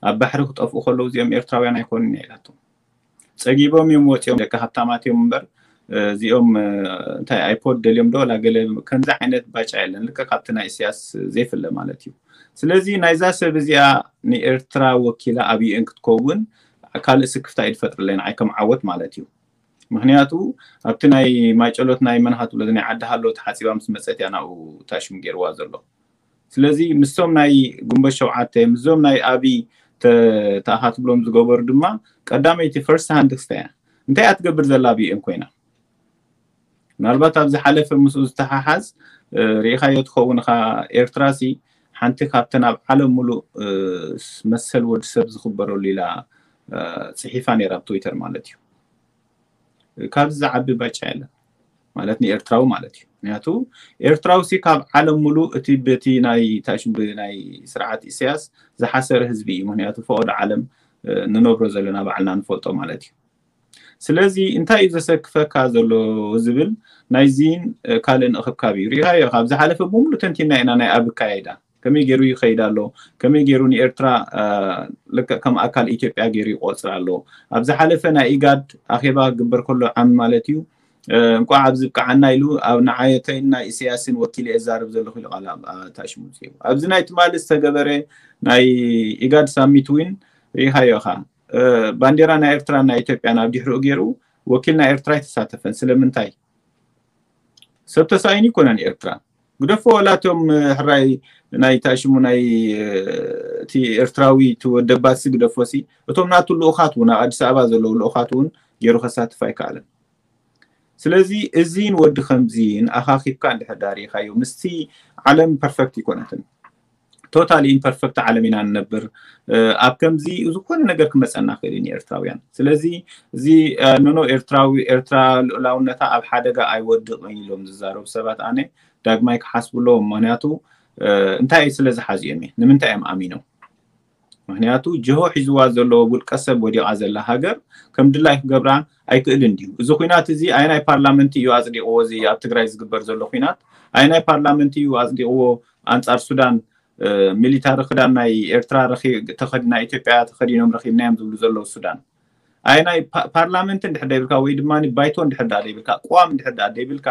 ኣብ ባሕሪ ክጠፍኡ ከለዉ እዚኦም ኤርትራውያን ኣይኮኑን እያ ኢላቶም። ጸጊቦም እዮም ወፂኦም ደቂ ሃብታማት እዮም እምበር እዚኦም እንታይ ኣይፖድ ደልዮም ዶ ላ ገለ ከምዚ ዓይነት ባጫ የለን። ልክዕ ካብቲ ናይ እስያስ ዘይፍለ ማለት እዩ። ስለዚ ናይዛ ሰብ እዚኣ ንኤርትራ ወኪላ ኣብ ዩኤን ክትከውን ካልእ ስክፍታ እዩ ዝፈጥርለይ ንዓይ ከም ዓወት ማለት እዩ። ምክንያቱ ኣብቲ ናይ ማይጨሎት ናይ መን ሃትብሎ ናይ ዓዲ ሃሎ ተሓፂባ ምስ መፀት እያ ናብኡ ታሽሙ ገይርዋ ዘሎ። ስለዚ ምስቶም ናይ ጉንበት ሸውዓተ ምስዞም ናይ ኣብይ ተኣኻትብሎም ዝገበሩ ድማ ቀዳመይቲ ፈርስት ሃንድ ክስታ እያ። እንታይ እያ ትገብር ዘላ ኣብ ዩኤን ኮይና? ምናልባት ኣብ ዝሓለፈ ምስኡ ዝተሓሓዝ ርኢኻዮ ትኸውን ኻ ኤርትራ ሲ ሓንቲ ካብተን ኣብ ዓለም ሙሉእ መሰል ወዲ ሰብ ዝኽበረሉ ኢላ ፅሒፋ ነይራ ኣብ ትዊተር ማለት እዩ። ካብዚ ዝዓቢ ባጫ የለን ማለት ንኤርትራዊ ማለት እዩ። ምክንያቱ ኤርትራዊ ሲ ካብ ዓለም ሙሉእ እቲ በቲ ናይ ታሽም ናይ ስርዓት ኢሳያስ ዝሓሰረ ህዝቢ እዩ። ምክንያቱ ፈቐዶ ዓለም ንነብሮ ዘለና ባዕልና ንፈልጦ ማለት እዩ። ስለዚ እንታይ እዩ ዘሰክፈካ ዘሎ ዝብል ናይዚን ካልእን እኽብካብ እዩ። ሪኢኻዮ ካብ ዝሓለፈ ብምሉ ተንቲና ኢና ናይ ኣብ ኣካያይዳ ከመይ ገይሩ ይኸይድ ኣሎ፣ ከመይ ገይሩ ንኤርትራ ልክዕ ከም ኣካል ኢትዮጵያ ገይሩ ይቆፅር ኣሎ። ኣብ ዝሓለፈ ናይ ኢጋድ ኣኼባ ክግበር ከሎ ዓሚ ማለት እዩ እንቋዕ ኣብዚ ብቅዓና ኢሉ ኣብ ንዓየተይን ናይ ኢሳያስን ወኪለ እዛረብ ዘለኹ ኢሉ ቃል ታሽሙ። ኣብዚ ናይ ትማሊ ዝተገበረ ናይ ኢጋድ ሳሚት ዊን ርኢኻዮ ኢኻ። ባንዴራ ናይ ኤርትራ ናይ ኢትዮጵያ ናብ ድሕሪኡ ገይሩ ወኪል ናይ ኤርትራ ኣይተሳተፈን። ስለምንታይ? ሰብ ተሳኢኑ ይኮነን ኤርትራ ግደፎ ወላ እቶም ሕራይ ናይ ታሽሙ ናይ እቲ ኤርትራዊ ትወደባሲ ግደፎሲ እቶም ናቱ ልኡኻት እውን ኣብ ኣዲስ ኣበባ ዘለዉ ልኡኻት እውን ገይሩ ከሳትፍ ኣይከኣለን። ስለዚ እዚን ወዲ ከምዚን ኣኻኺብካ እንድሕር ዳሪኻዮ ምስቲ ዓለም ፐርፈክት ይኮነትን። ቶታሊ ኢምፐርፈክት ዓለም ኢና ንነብር። ኣብ ከምዚ ዝኾነ ነገር ክመፀና ክእል እዩ ንኤርትራውያን። ስለዚ እዚ ኖኖ ኤርትራዊ ኤርትራ ልኡላውነታ ኣብ ሓደጋ ኣይወድቕን ኢሎም ዝዛረቡ ሰባት ኣነ ዳግማይ ክሓስቡ ኣለዎም። ምክንያቱ እንታይ ስለ ዝሓዚኦም እየ ንምንታይ እዮም ኣሚኖም? ምክንያቱ ጅሆ ሒዝዋ ዘሎ ውልቀ ሰብ ወዲቓ ዘላ ሃገር ከም ድላይ ክገብራ ኣይክእልን ድዩ? እዚ ኩናት እዚ ኣየናይ ፓርላመንት እዩ ኣፅዲቕዎ? እዚ ኣብ ትግራይ ዝግበር ዘሎ ኩናት ኣየናይ ፓርላመንት እዩ ኣፅዲቕዎ? ኣንፃር ሱዳን ሚሊታሪ ክዳን ናይ ኤርትራ ተኸዲ ናይ ኢትዮጵያ ተኸዲኖም ረኺብናዮም ዝብሉ ዘለዉ ሱዳን ኣይ ናይ ፓርላመንት እንድሕር ደይብልካ ወይ ድማ ባይቶ እንድሕር ዳ ደይብልካ ቅዋም እንድሕር ዳ ደይብልካ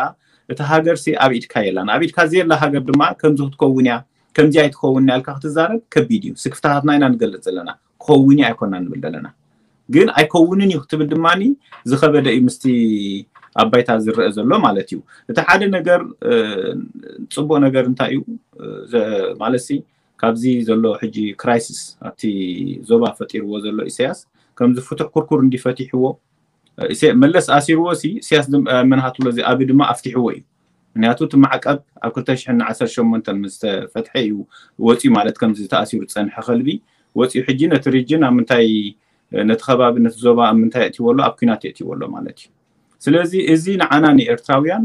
እቲ ሃገር ሲ ኣብ ኢድካ የላን። ኣብ ኢድካ ዘየላ ሃገር ድማ ከምዚ ክትከውን እያ ከምዚ ኣይትኸውን ያልካ ክትዛረብ ከቢድ እዩ። ስክፍታታትና ኢና ንገልፅ ዘለና ክኸውን እዩ ኣይኮና ንብል ዘለና። ግን ኣይከውንን እዩ ክትብል ድማ ዝኸበደ እዩ ምስቲ ኣብ ባይታ ዝረአ ዘሎ ማለት እዩ። እቲ ሓደ ነገር ፅቡቅ ነገር እንታይ እዩ ማለት ሲ ካብዚ ዘሎ ሕጂ ክራይሲስ ኣብቲ ዞባ ፈጢርዎ ዘሎ ኢሳያስ ከምዚ ፍቱሕ ኩርኩር እንዲፈቲሕዎ መለስ ኣሲርዎ ሲ ኢሳያስ መንሃትሎ እዚ ኣብ ድማ ኣፍቲሕዎ እዩ። ምክንያቱ እቲ ማዕቀብ ኣብ ክልተ ሽሕን ዓሰርተ ሸሞንተን ምስ ተፈትሐ እዩ ወፂኡ ማለት ከምዚ ተኣሲሩ ዝፀንሐ ከልቢ ወፂኡ ሕጂ ነቲ ሪጅን ኣብ ምንታይ ነቲ ከባቢ ነቲ ዞባ ኣብ ምንታይ የእትዎ ኣሎ ኣብ ኩናት የእትዎ ኣሎ ማለት እዩ። ስለዚ እዚ ንዓና ንኤርትራውያን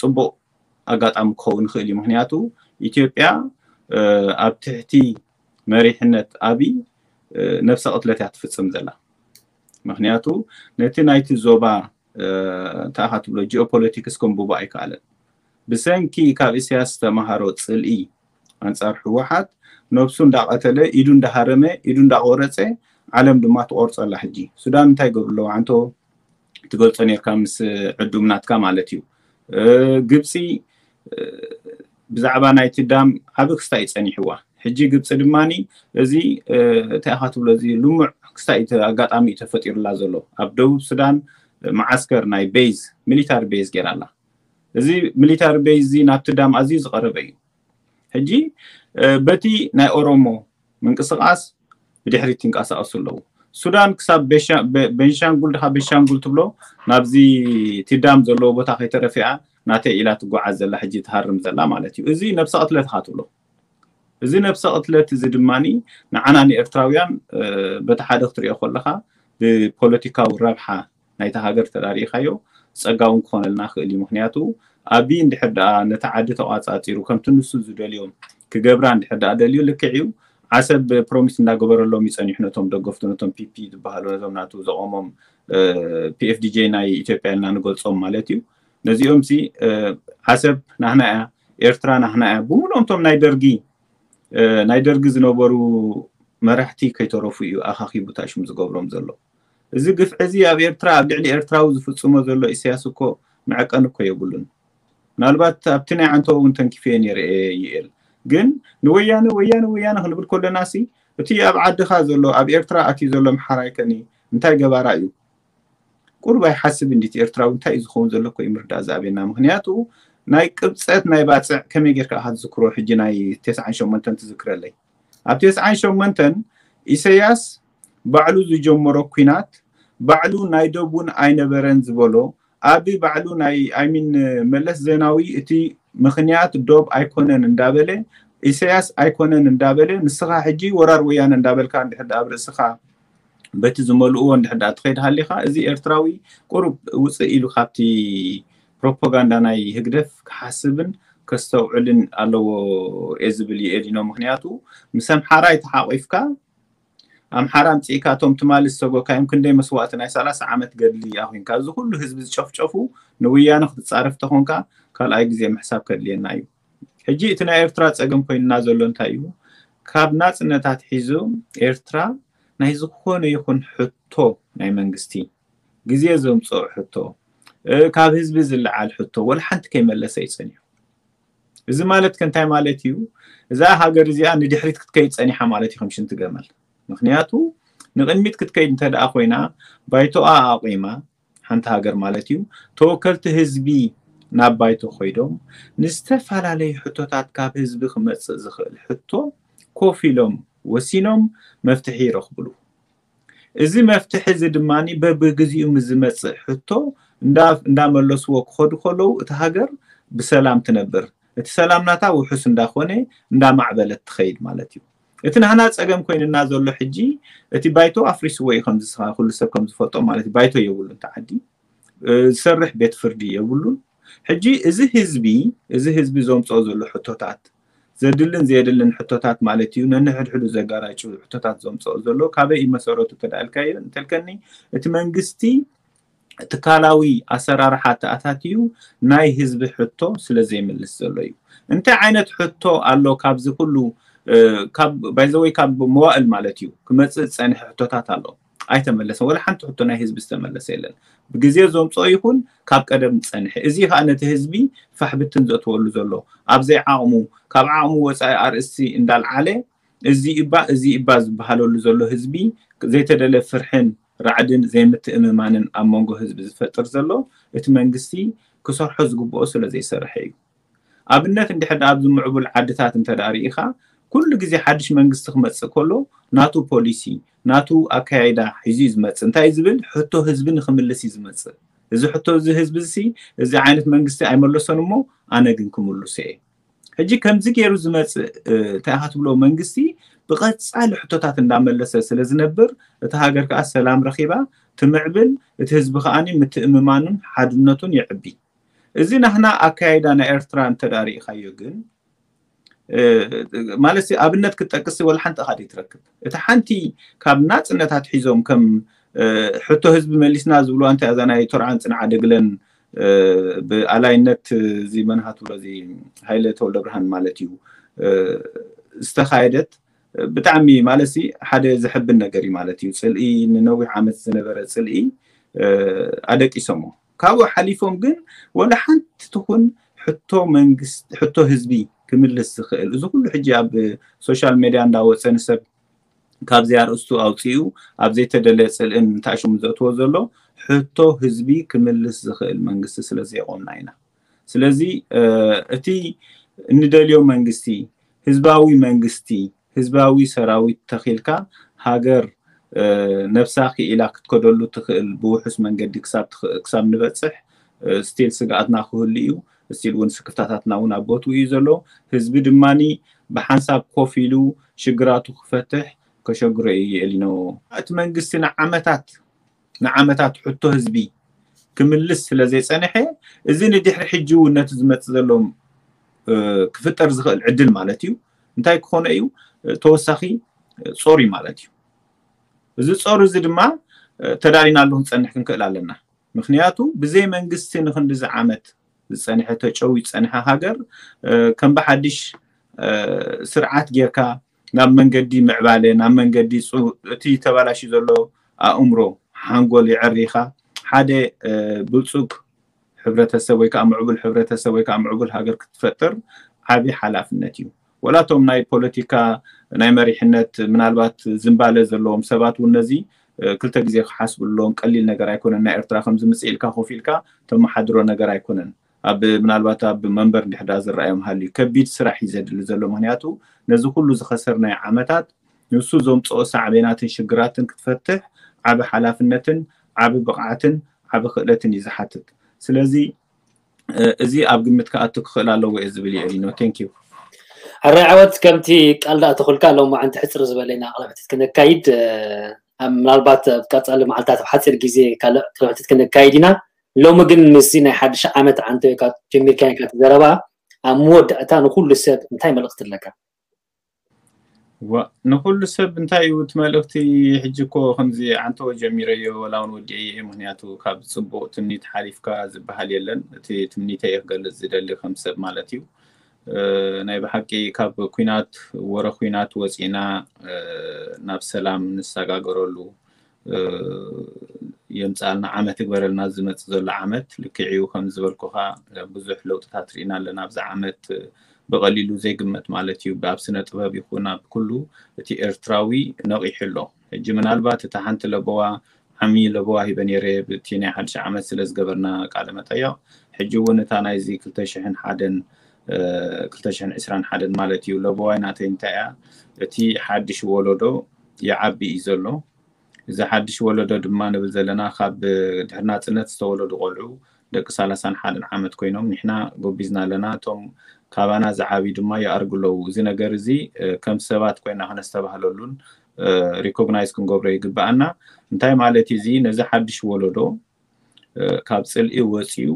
ፅቡቅ ኣጋጣሚ ክኸውን ይኽእል እዩ። ምክንያቱ ኢትዮጵያ ኣብ ትሕቲ መሪሕነት ኣብይ ነብሰ ቅትለት እያ ትፍፅም ዘላ። ምክንያቱ ነቲ ናይቲ ዞባ እንታይ ኢኻ ትብሎ ጂኦፖለቲክስ ከንብቦ ኣይከኣለን። ብሰንኪ ካብ ኢሳያስ ዝተምሃሮ ፅልኢ ኣንፃር ህወሓት ነብሱ እንዳቐተለ ኢዱ እንዳሃረመ ኢዱ እንዳቆረፀ ዓለም ድማ ትቆርፀላ። ሕጂ ሱዳን እንታይ ገብሩ ኣለዋ ዓንቶ ትገልፆ ነርካ ምስ ዕዱም ናትካ ማለት እዩ። ግብፂ ብዛዕባ ናይቲ ዳም ዓብ ክስታይ ፀኒሕዋ። ሕጂ ግብፂ ድማ እዚ እንታይ ኢኻ ትብሎ እዚ ልሙዕ ክስታይ ኣጋጣሚ እዩ ተፈጢሩላ ዘሎ ኣብ ደቡብ ሱዳን መዓስከር ናይ ቤዝ ሚሊታሪ ቤዝ ገይራ ኣላ። እዚ ሚሊታሪ ቤዝ እዚ ናብቲ ዳም ኣዝዩ ዝቐረበ እዩ። ሕጂ በቲ ናይ ኦሮሞ ምንቅስቃስ ብድሕሪት ይንቀሳቀሱ ኣለዉ። ሱዳን ክሳብ ቤንሻንጉል ድካ ቤንሻንጉል ትብሎ ናብዚ ቲ ዳም ዘለዎ ቦታ ከይተረፊኣ ናተይ ኢላ ትጓዓዝ ዘላ ሕጂ ትሃርም ዘላ ማለት እዩ። እዚ ነብሰ ቅትለት ኢካ ትብሎ። እዚ ነብሰ ቅትለት እዚ ድማ ንዓና ንኤርትራውያን በቲ ሓደ ክትሪኦ ከለካ ብፖለቲካዊ ረብሓ ናይቲ ሃገር ተዳሪኢካዮ ጸጋ እውን ክኾነልና ክእል እዩ። ምክንያቱ ኣቢ እንድሕር ደኣ ነቲ ዓዲ ተቋጻጺሩ ከምቲ ንሱ ዝደልዮም ክገብራ እንድሕር ደኣ ደልዩ ልክዕ እዩ። ዓሰብ ፕሮሚስ እንዳገበረሎም ይጸኒሑ ነቶም ደገፍቱ ነቶም ፒፒ ዝበሃሉ ነቶም ናቱ ዘቆሞም ፒኤፍዲጄ ናይ ኢትዮጵያ ኢልና ንገልጾም ማለት እዩ። ነዚኦም ሲ ዓሰብ ናህና እያ፣ ኤርትራ ናህና እያ። ብምሉኦም እቶም ናይ ደርጊ ናይ ደርጊ ዝነበሩ መራሕቲ ከይተረፉ እዩ ኣኻኺቡ ታሽሙ ዝገብሮም ዘሎ። እዚ ግፍዒ እዚ ኣብ ኤርትራ ኣብ ልዕሊ ኤርትራዊ ዝፍጽሞ ዘሎ ኢሳያስ እኮ መዐቀኒ እኮ የብሉን። ምናልባት ኣብቲ ናይ ዓንተቦ እውን ተንኪፈዮ ነይረ እየ ይኤል ግን ንወያነ ወያነ ወያነ ክንብል ከለና ሲ እቲ ኣብ ዓድኻ ዘሎ ኣብ ኤርትራ ኣትዩ ዘሎ ኣምሓራይ ከኒ እንታይ ገባራ እዩ? ቁሩብ ኣይሓስብ እንዲት ኤርትራዊ እንታይ እዩ ዝኸውን ዘሎ እኮ እዩ ምርዳእ ዝኣበየና። ምክንያቱ ናይ ቅብፀት ናይ ባፅዕ ከመይ ጌርካ ኢኻ ትዝክሮ? ሕጂ ናይ ተስዓን ሸሞንተን ትዝክረለይ። ኣብ ተስዓን ሸሞንተን ኢሰያስ ባዕሉ ዝጀመሮ ኲናት ባዕሉ ናይ ደቡን ኣይነበረን ዝበሎ ኣብ ባዕሉ ናይ ኣይሚን መለስ ዜናዊ እቲ ምክንያት ዶብ ኣይኮነን እንዳበለ ኢሰያስ ኣይኮነን እንዳበለ ንስኻ ሕጂ ወራር ወያነ እንዳበልካ እንድሕር ኣብ ርእስኻ በቲ ዝመልእዎ እንድሕር ደኣ ትኸይድ ሃሊኻ እዚ ኤርትራዊ ቁሩብ ውፅእ ኢሉ ካብቲ ፕሮፓጋንዳ ናይ ህግደፍ ክሓስብን ከስተውዕልን ኣለዎ እየ ዝብል እየ ዲኖ። ምክንያቱ ምስ ኣምሓራይ ተሓቂፍካ ኣምሓራ ኣምፂእካ እቶም ትማሊ ዝሰጎካዮም ክንደይ መስዋእቲ ናይ ሰላሳ ዓመት ገድሊ ኣኮንካ እዚ ኩሉ ህዝቢ ዝጨፍጨፉ ንውያነ ክትፃረፍ ተኾንካ ካልኣይ ግዜ ምሕሳብ ከድልየና እዩ። ሕጂ እቲ ናይ ኤርትራ ፀገም ኮይንና ዘሎ እንታይ እዩ? ካብ ናፅነታት ሒዙ ኤርትራ ናይ ዝኾነ ይኹን ሕቶ ናይ መንግስቲ ግዜ ዘምፅኦ ሕቶ ካብ ህዝቢ ዝለዓል ሕቶ ወላ ሓንቲ ከይመለሰ ይፀኒሑ። እዚ ማለት ከ እንታይ ማለት እዩ? እዛ ሃገር እዚኣ ንድሕሪት ክትከይድ ፀኒሓ ማለት እዩ ከም ሽንቲ ገመል። ምክንያቱ ንቅድሚት ክትከይድ እንተ ደኣ ኮይና ባይቶኣ ኣቂማ ሓንቲ ሃገር ማለት እዩ ተወከልቲ ህዝቢ ናብ ባይቶ ኮይዶም ንዝተፈላለዩ ሕቶታት ካብ ህዝቢ ክመፅእ ዝኽእል ሕቶ ኮፍ ኢሎም ወሲኖም መፍትሒ ይረኽብሉ። እዚ መፍትሒ እዚ ድማ በብግዚኡ ምስ ዝመፅእ ሕቶ እንዳመለስዎ ክኸዱ ከለዉ እቲ ሃገር ብሰላም ትነብር፣ እቲ ሰላም ናታ ውሑስ እንዳኾነ እንዳማዕበለት ትኸይድ ማለት እዩ። እቲ ናህና ፀገም ኮይንና ዘሎ ሕጂ እቲ ባይቶ ኣፍሪስዎ እዩ ከምዚ ስኻ ኩሉ ሰብ ከም ዝፈልጦ ማለት እዩ። ባይቶ የብሉን እቲ ዓዲ ዝሰርሕ ቤት ፍርዲ የብሉን። ሕጂ እዚ ህዝቢ እዚ ህዝቢ ዘምፅኦ ዘሎ ሕቶታት ዘድልን ዘየድልን ሕቶታት ማለት እዩ ነንሕድሕዱ ዘጋራጭ ሕቶታት ዘምፅኦ ዘሎ ካበይ እዩ መሰረቱ ተዳልካዮ እንተልከኒ እቲ መንግስቲ ትካላዊ ኣሰራርሓ ተኣታትዩ ናይ ህዝቢ ሕቶ ስለ ዘይምልስ ዘሎ እዩ። እንታይ ዓይነት ሕቶ ኣሎ ካብዚ ኩሉ ባይዘወይ ካብ መዋእል ማለት እዩ ክመፅእ ዝፀንሐ ሕቶታት ኣሎ ኣይተመለሰን። ወላ ሓንቲ ሕቶ ናይ ህዝቢ ዝተመለሰ የለን። ብግዜ ዘምፅኦ ይኹን ካብ ቀደም ዝፀንሐ እዚ ከዓ ነቲ ህዝቢ ፋሕብትን ዘእትወሉ ዘሎ ኣብዘይ ዓቕሙ ካብ ዓቕሙ ወፃኢ ኣርእስቲ እንዳልዓለ እዚ እባ እዚ እባ ዝበሃለሉ ዘሎ ህዝቢ ዘይተደለ ፍርሕን ራዕድን ዘይምትእምማንን ኣብ መንጎ ህዝቢ ዝፈጥር ዘሎ እቲ መንግስቲ ክሰርሖ ዝግብኦ ስለ ዘይሰርሐ እዩ። ኣብነት እንድሕር ኣብዚ ምዕቡል ዓድታት እንተ ርኢኻ ኩሉ ግዜ ሓድሽ መንግስቲ ክመፅእ ከሎ ናቱ ፖሊሲ ናቱ ኣካያይዳ ሒዙ እዩ ዝመፅእ። እንታይ ዝብል ሕቶ ህዝቢ ንክምልስ እዩ ዝመፅእ። እዚ ሕቶ እዚ ህዝቢ እዚ እዚ ዓይነት መንግስቲ ኣይመለሶን እሞ ኣነ ግን ክምልሶ እየ። ሕጂ ከምዚ ገይሩ ዝመፅእ እንታይ ኢኻ ትብሎ መንግስቲ ብቐፃሊ ሕቶታት እንዳመለሰ ስለ ዝነብር እቲ ሃገር ከዓ ሰላም ረኺባ ትምዕብል፣ እቲ ህዝቢ ከዓኒ ምትእምማኑን ሓድነቱን ይዕቢ። እዚ ናህና ኣካያይዳ ናይ ኤርትራ እንተ ርኢኻዮ ግን ማለት ኣብነት ክትጠቅስ ወላ ሓንቲ ኢኻ ትረክብ። እቲ ሓንቲ ካብ ናፅነታት ሒዞም ከም ሕቶ ህዝቢ መሊስና ዝብልዋ እንታይ እዛ ናይ ቶርዓን ፅንዓ ደግለን ብኣላይነት እዚ መንሃ ትብሎ እዚ ሃይለ ተወልደ ብርሃን ማለት እዩ ዝተኻየደት ብጣዕሚ ማለት ሲ ሓደ ዘሕብን ነገር እዩ ማለት እዩ። ፅልኢ ንነዊሕ ዓመት ዝነበረ ፅልኢ ኣደቂሶሞ። ካብኡ ሓሊፎም ግን ወላ ሓንቲ ትኹን ሕቶ መንግስት ሕቶ ህዝቢ ክምልስ ዝኽእል እዚ ኩሉ ሕጂ ኣብ ሶሻል ሜድያ እንዳወፀ ንሰብ ካብዚ ኣርእስቱ ኣውፂኡ ኣብ ዘይተደለየ ፅልእን ታሽሙ ዘእትዎ ዘሎ ሕቶ ህዝቢ ክምልስ ዝኽእል መንግስቲ ስለ ዘየቆምና ኢና። ስለዚ እቲ እንደልዮ መንግስቲ ህዝባዊ መንግስቲ ህዝባዊ ሰራዊት ተኺልካ ሃገር ነብሳ ክኢላ ክትከደሉ ትኽእል ብውሑስ መንገዲ ክሳብ ንበፅሕ ስቲል ስግኣትና ክህሉ እዩ። ስቲል እውን ስክፍታታትና እውን ኣብ ቦትኡ እዩ ዘሎ። ህዝቢ ድማኒ ብሓንሳብ ኮፍ ኢሉ ሽግራቱ ክፈትሕ ከሸግሮ እዩ የእሊኖ። እቲ መንግስቲ ንዓመታት ንዓመታት ሕቶ ህዝቢ ክምልስ ስለ ዘይፀንሐ እዚ ንድሕሪ ሕጂ እውን ነቲ ዝመፅእ ዘሎ ክፍጠር ዝኽእል ዕድል ማለት እዩ እንታይ ክኾነ እዩ ተወሳኺ ጾር እዩ ማለት እዩ። እዚ ጾር እዚ ድማ ተዳሊናሉ ክንፀንሕ ክንክእል ኣለና። ምክንያቱ ብዘይ መንግስቲ ንክንድዚ ዓመት ዝፀንሐ ተጨው ዝፀንሐ ሃገር ከም ብሓድሽ ስርዓት ጌርካ ናብ መንገዲ ምዕባለ ናብ መንገዲ እቲ ተባላሽ ዘሎ ኣእምሮ ሓንጎል የዕሪኻ ሓደ ብልፁግ ሕብረተሰብ ወይ ከዓ ምዕቡል ሕብረተሰብ ወይ ከዓ ምዕቡል ሃገር ክትፈጥር ዓብዪ ሓላፍነት እዩ። ወላቶም ናይ ፖለቲካ ናይ መሪሕነት ምናልባት ዝንባለ ዘለዎም ሰባት እውን ነዚ ክልተ ግዜ ክሓስብሎም ቀሊል ነገር ኣይኮነን። ናይ ኤርትራ ከም ዝምፅእ ኢልካ ኮፍ ኢልካ ተመሓድሮ ነገር ኣይኮነን። ኣብ ምናልባት ኣብ መንበር እንድሕዳ ዝረኣዮም ሃልዩ ከቢድ ስራሕ እዩ ዘድሊ ዘሎ። ምክንያቱ ነዚ ኩሉ ዝኸሰርናዮ ዓመታት ንሱ ዘምፅኦ ሳዕቤናትን ሽግራትን ክትፈትሕ ዓቢ ሓላፍነትን ዓቢ ብቕዓትን ዓቢ ክእለትን እዩ ዝሓትት። ስለዚ እዚ ኣብ ግምት ክኣቱ ክኽእል ኣለዎ እየ ዝብል እየ ሊኖ። ቴንክ ዩ። ኣራይ ዓወት ከምቲ ቃል ዳኣ ተኹልካ ሎም ዓንቲ ሕፅር ዝበለና ቅልሕትት ክነካይድ ምናልባት ኣብ ቀፃሊ መዓልታት ኣብ ሓፂር ግዜ ካልእ ቅልሕትት ክነካይድ ኢና። ሎሚ ግን ምስዚ ናይ ሓድሽ ዓመት ዓንተ ጀሚርካ ኢካ ዘረባ ኣብ መወዳእታ ንኩሉ ሰብ እንታይ መልእክቲ ኣለካ? ንኩሉ ሰብ እንታይ እዩ እቲ መልእክቲ? ሕጂ እኮ ከምዚ ዓንተወ ጀሚረዮ ወላ እውን ወዲዐ እየ። ምክንያቱ ካብ ፅቡቅ ትምኒት ሓሊፍካ ዝበሃል የለን። እቲ ትምኒተይ እየ ክገልፅ ዝደሊ ከም ሰብ ማለት እዩ። ናይ ብሓቂ ካብ ኩናት ወረ ኩናት ወፂና ናብ ሰላም ንሰጋገረሉ የምፃልና ዓመት ይግበረልና። ዝመፅእ ዘሎ ዓመት ልክዕ እዩ ከም ዝበልኩካ ብዙሕ ለውጥታት ርኢና ኣለና ኣብዚ ዓመት። ብቐሊሉ ዘይግመት ማለት እዩ። ኣብ ስነ ጥበብ ይኹን ኣብ ኩሉ እቲ ኤርትራዊ ነቒሑ ኣሎ። ሕጂ ምናልባት እታ ሓንቲ ለበዋ ዓሚ ለበዋ ሂበ ነይረ ብቲ ናይ ሓድሽ ዓመት ስለ ዝገበርና ቃለ መጠየቕ። ሕጂ እውን እታ ናይዚ ክልተ ሽሕን ሓደን ክልተ ሽሕን ዕስራን ሓደን ማለት እዩ። ለበዋይ ናተይ እንታይ እያ? እቲ ሓድሽ ወለዶ ይዓቢ እዩ ዘሎ። እዚ ሓድሽ ወለዶ ድማ ንብል ዘለና ካብ ድሕሪ ናፅነት ዝተወለዱ ቆልዑ ደቂ ሰላሳን ሓደን ዓመት ኮይኖም ንሕና ጎቢዝና ኣለና። እቶም ካባና ዝዓብዩ ድማ ይኣርጉ ኣለዉ። እዚ ነገር እዚ ከም ሰባት ኮይና ከነስተባህለሉን ሪኮግናይዝ ክንገብሮ ይግበኣና። እንታይ ማለት እዚ ነዚ ሓድሽ ወለዶ ካብ ፅልኢ ወፂኡ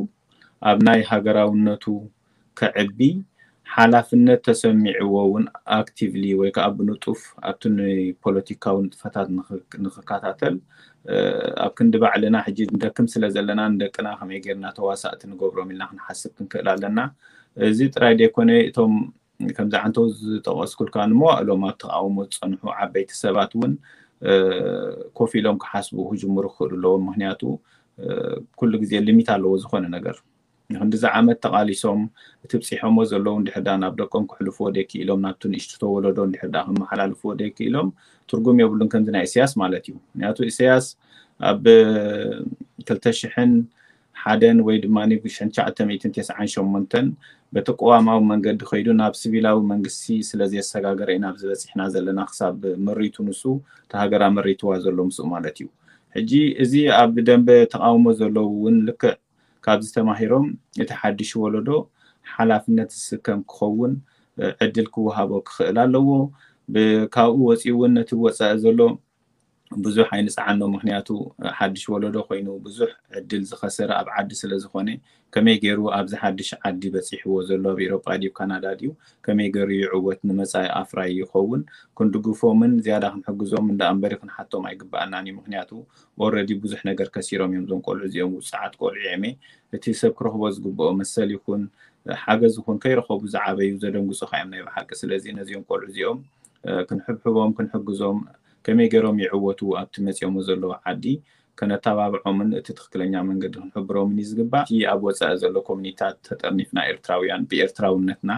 ኣብ ናይ ሃገራውነቱ ከዕቢ ሓላፍነት ተሰሚዕዎ እውን ኣክቲቭሊ ወይ ከዓ ብንጡፍ ኣብቲ ንፖለቲካዊ ንጥፈታት ንክከታተል ኣብ ክንዲ ባዕልና ሕጂ ንደክም ስለ ዘለና ንደቅና ከመይ ጌርና ተዋሳእቲ ንገብሮም ኢልና ክንሓስብ ክንክእል ኣለና። እዚ ጥራይ ዘይኮነ እቶም ከምዚ ዓንተው ዝጠቀስኩልካ ንመዋእሎም ኣብ ተቃውሞ ዝፀንሑ ዓበይቲ ሰባት እውን ኮፍ ኢሎም ክሓስቡ ክጅምሩ ክኽእሉ ኣለዎም። ምክንያቱ ኩሉ ግዜ ሊሚት ኣለዎ ዝኾነ ነገር። ንክንድዚ ዓመት ተቃሊሶም እቲ ብፂሖሞ ዘለዉ እንድሕር ዳ ናብ ደቆም ክሕልፍዎ ደይክኢሎም ናብቲ ንእሽቱ ተወለዶ እንድሕር ዳ ከመሓላልፍዎ ደይክኢሎም ትርጉም የብሉን ከምዚ ናይ ኢሳያስ ማለት እዩ። ምክንያቱ ኢሳያስ ኣብ ክልተ ሽሕን ሓደን ወይ ድማ ብሽሕን ትሽዓተ ሚእትን ተስዓን ሸሞንተን በቲ ቅዋማዊ መንገዲ ከይዱ ናብ ስቪላዊ መንግስቲ ስለ ዘየሰጋገረ ኢና ኣብዚ በፂሕና ዘለና ክሳብ ምሪቱ ንሱ እቲ ሃገር ኣመሪትዋ ዘሎ ምስኡ ማለት እዩ። ሕጂ እዚ ኣብ ደንበ ተቃውሞ ዘለዉ እውን ልክዕ ካብዚ ተማሂሮም እቲ ሓድሽ ወለዶ ሓላፍነት ዝስከም ክኸውን ዕድል ክወሃቦ ክኽእል ኣለዎ። ካብኡ ወፂኡ እውን ነቲ ወፃኢ ዘሎ ብዙሕ ኣይንፅዓኖ። ምክንያቱ ሓድሽ ወለዶ ኮይኑ ብዙሕ ዕድል ዝኸሰረ ኣብ ዓዲ ስለ ዝኾነ ከመይ ገይሩ ኣብዚ ሓድሽ ዓዲ በፂሕዎ ዘሎ ኣብ ኤሮጳ ድዩ ካናዳ ድዩ ከመይ ገይሩ ይዕወት ንመፃኢ ኣፍራይ ይኸውን ክንድግፎምን ዝያዳ ክንሕግዞም እንዳ እምበሪ ክንሓቶም ኣይግበኣናን እዩ። ምክንያቱ ኦረዲ ብዙሕ ነገር ከሲሮም እዮም ዞም ቆልዑ እዚኦም ውፅዓት ቆልዑ እዮም። እቲ ሰብ ክረኽቦ ዝግብኦ መሰል ይኹን ሓገዝ ይኹን ከይረኸቡ ዝዓበዩ ዘደንግፁ ካዮም ናይ ብሓቂ። ስለዚ ነዚኦም ቆልዑ እዚኦም ክንሕብሕቦም ክንሕግዞም ከመይ ገይሮም ይዕወቱ ኣብቲ መፂኦሞ ዘለዉ ዓዲ ከነተባብዖምን እቲ ትክክለኛ መንገዲ ክንሕብሮምን እዩ ዝግባእ። እቲ ኣብ ወፃኢ ዘሎ ኮሚኒታት ተጠርኒፍና ኤርትራውያን ብኤርትራውነትና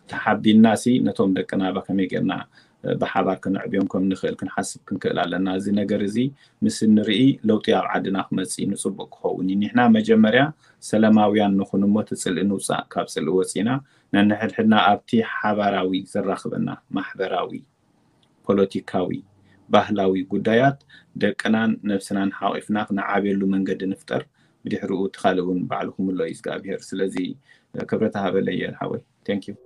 ተሓቢንና ሲ ነቶም ደቅና ባ ከመይ ጌርና ብሓባር ክነዕብዮም ከም ንኽእል ክንሓስብ ክንክእል ኣለና። እዚ ነገር እዚ ምስ እንርኢ ለውጢ ኣብ ዓድና ክመፅእ እዩ፣ ንፅቡቅ ክኸውን እዩ። ንሕና መጀመርያ ሰላማውያን ንኹን እሞ እቲ ፅልኢ ንውፃእ። ካብ ፅልኢ ወፂና ነንሕድሕድና ኣብቲ ሓባራዊ ዘራኽበና ማሕበራዊ፣ ፖለቲካዊ፣ ባህላዊ ጉዳያት ደቅናን ነብስናን ሓቂፍና ክነዓብየሉ መንገዲ ንፍጠር። ብድሕሪኡ እቲ ካልእ እውን ባዕሉ ክምሎ እዩ እግዚኣብሄር። ስለዚ ክብረት ሃበለየ ሓወይ። Thank you።